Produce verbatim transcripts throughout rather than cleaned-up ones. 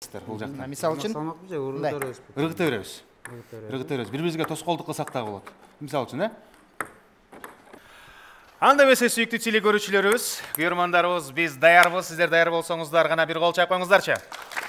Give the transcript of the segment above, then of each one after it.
бул жакта. Мисалы үчүн ыргыта беребиз. Ыргыта беребиз. Бири-бирибизге тоскоолдук кылсак дагы болот. Мисалы үчүн, э? Анда эмесе сүйүктүү теле көрүүчүлөрүбүз, көрөрмандарыбыз, биз даярбыз. Сиздер даяр болсоңуздар гана бир кол чайып коюңуздарчы.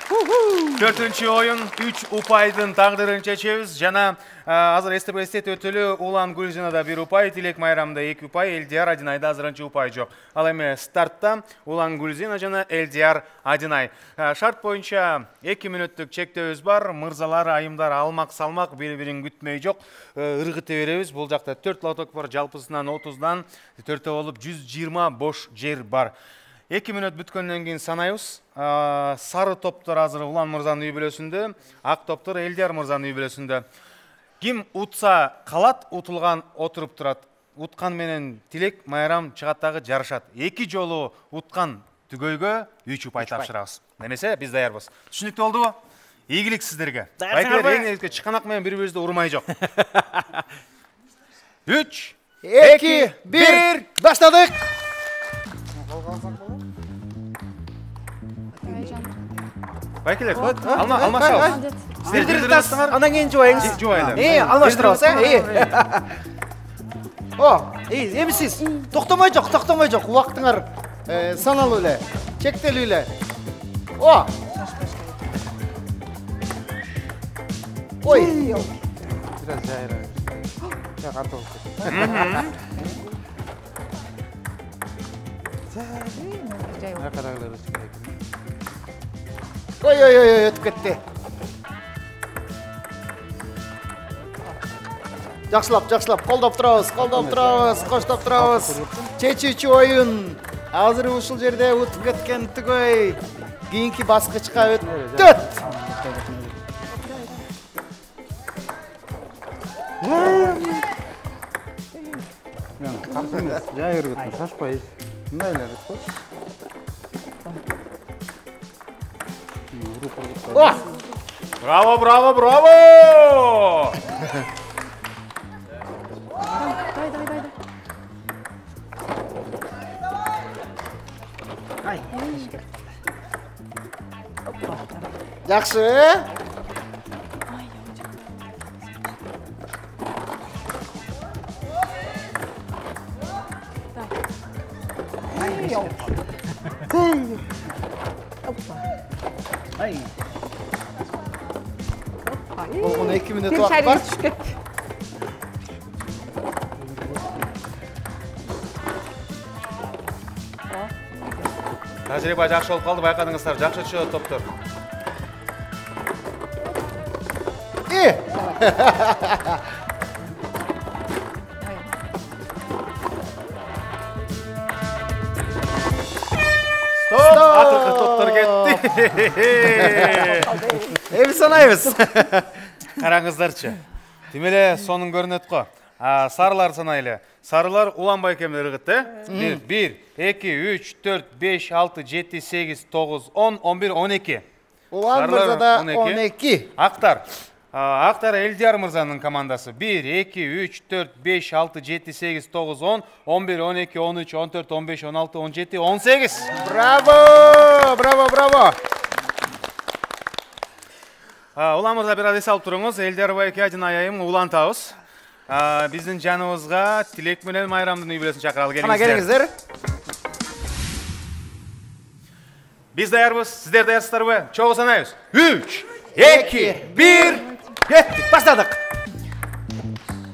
Төртүнчү оюн үч упайдын тагдырын чечебиз. Жана азыр эстеп эстет өтөлү Улан Гүлзинада бир упай, Тилек Майрамда эки упай, Элдияр Адинайда азырынча упай жок. Ал эми стартта Улан Гүлзина жана Элдияр Адинай. Шарт боюнча эки мүнөттүк чектөөбүз бар. Мырзалар, айымдар алмак салмак бири-бирин күтмөй жок. Ыргыта беребиз. Бул жакта төрт лоток бар, жалпысынан отуздан төртөө болуп жүз жыйырма бош жер бар. эки мүнөт бүткөндөн кийин санайбыз. Сары топтор азыр Улан мырзанын үй бүлөсүндө, ак топтор Элдияр мырзанын үй бүлөсүндө. Ким утса калат, утулган отуруп турат. Уткан менен Тилек Майрам чыгат дагы жарышат. Эки жолу уткан түгөйгө үч упай тапшырабыз. Немесе биз даярбыз. Түшүнүктүү болдубу? Ийгилик сиздерге. Байкелер эң эле чыканак менен бири-бирибизди урмай жок. үч, эки, бир, баштадык. Байкелер, алма, алмашабыз. Сиздер директор, андан кийин жубайыңыз. Жубайлар. Э, алмаштырабыз, э. О, э, эми сиз токтомой жок, токтомой жок. Убактыңар саналуу эле, чектелүү эле. О. Ой. Biraz жайра. Я готов. Я карайлар керек. Ой, ой, ой, өтүп кетти. Жакшылап, жакшылап, колдоп турабыз, колдоп турабыз, коштоп турабыз. Чечүүчү оюн. Азыр ушул жерде утуп кеткен түгөй кийинки баскычка өтөт. Жай ыргытма, шашпай. Мындай эле ыргыт. О! Браво, браво, браво! Дай, дай, дай. Ай. Жакшы. Ай. Болгон эки мүнөт убакыт бар. Тажрыйба жакшы болуп калды, байкадыңыздар. Жакшы чыгат топтор. Э. Стоп! Акыркы топтор кетти. Эми санайбыз. Караңыздарчы. Тим эле сонун көрүнөт го. Сарылар санайлы. Сарылар Улан байкемдер ыргыт, э? бир, эки, үч, төрт, беш, алты, жети, сегиз, тогуз, он, он бир, он эки. Улан мырзада он эки. Актар. Актар Элдияр мырзанын командасы. бир, эки, үч, төрт, беш, алты, жети, сегиз, тогуз, он, он бир, он эки, он үч, он төрт, он беш, он алты, он жети, он сегиз. Браво! Браво, браво! Улан мырза бир аз эс алып туруңуз. Элдияр байке, Адинай айым улантабыз. Биздин жаныбызга Тилек менен Майрамдын үй бүлөсүн чакыралы, келиңиздер. Кана келиңиздер. Биз даярбыз, сиздер даярсыздарбы? Чогуу санайбыз. үч, эки, бир, кеттик, баштадык.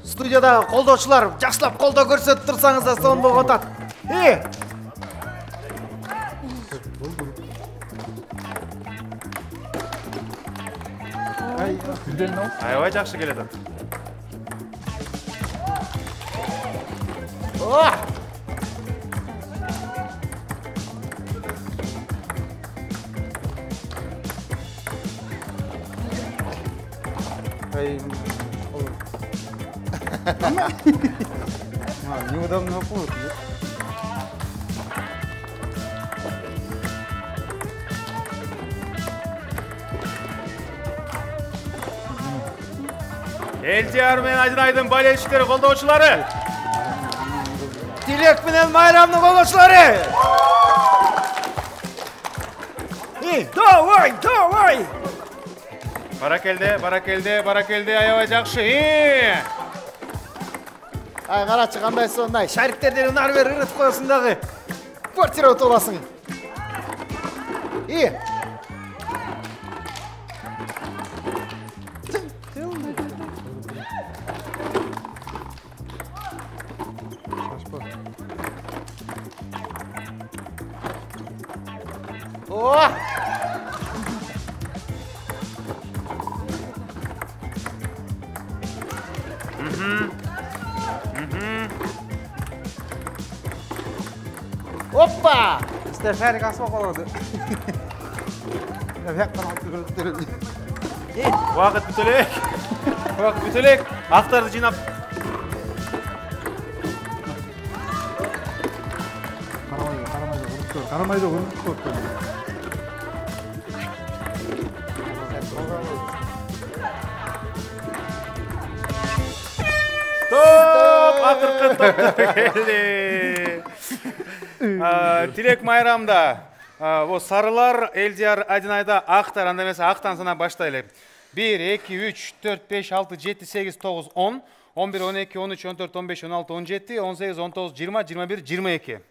Студияда колдоочулар жакшылап колдоо көрсөтүп турсаңыздар сонун болуп атат. Э! Аябай жакшы келет атат. О! Ай. А, неудобно будет. Элдияр менен Адинайдын болельщиктери, колдоочулары. Тилек менен Майрамдын колдоочулары. И, давай, давай. Баракелде, баракелде, баракелде, аябай жакшы. И! Ай, карачы кандай сондай. Шариктерден ары бери ырытып коесуң дагы. Квартира утуп аласың. И. О! Опа! Сиздер шарик асып калды. Я бияктан алып көрүптүр. Убакыт бүтө элек. Убакыт бүтө элек. Актарды жыйнап. Карамайда, карамайда уруп коет. Топ! Акыркы топтор келди. Тилек майрамда бу сарылар, Элдияр Адинайда актар, анда эмесе актан санап баштайлы. бир, эки, үч, төрт, беш, алты, жети, сегиз, тогуз, он, он бир, он эки, он үч, он төрт, он беш, он алты, он жети, он сегиз, он тогуз, жыйырма, жыйырма бир, жыйырма эки.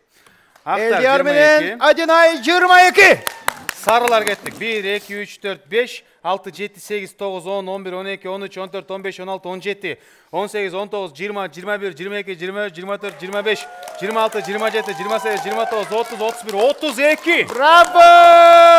Элдияр менен Адинай жыйырма эки. Сарылар кеттик. бир, эки, үч, төрт, беш, алты, жети, сегиз, тогуз, он, он бир, он эки, он үч, он төрт, он беш, он алты, он жети, он сегиз, он тогуз, жыйырма, жыйырма бир, жыйырма эки, жыйырма үч, жыйырма төрт, жыйырма беш, жыйырма алты, жыйырма жети, жыйырма сегиз, жыйырма тогуз, отуз, отуз бир, отуз эки. Браво!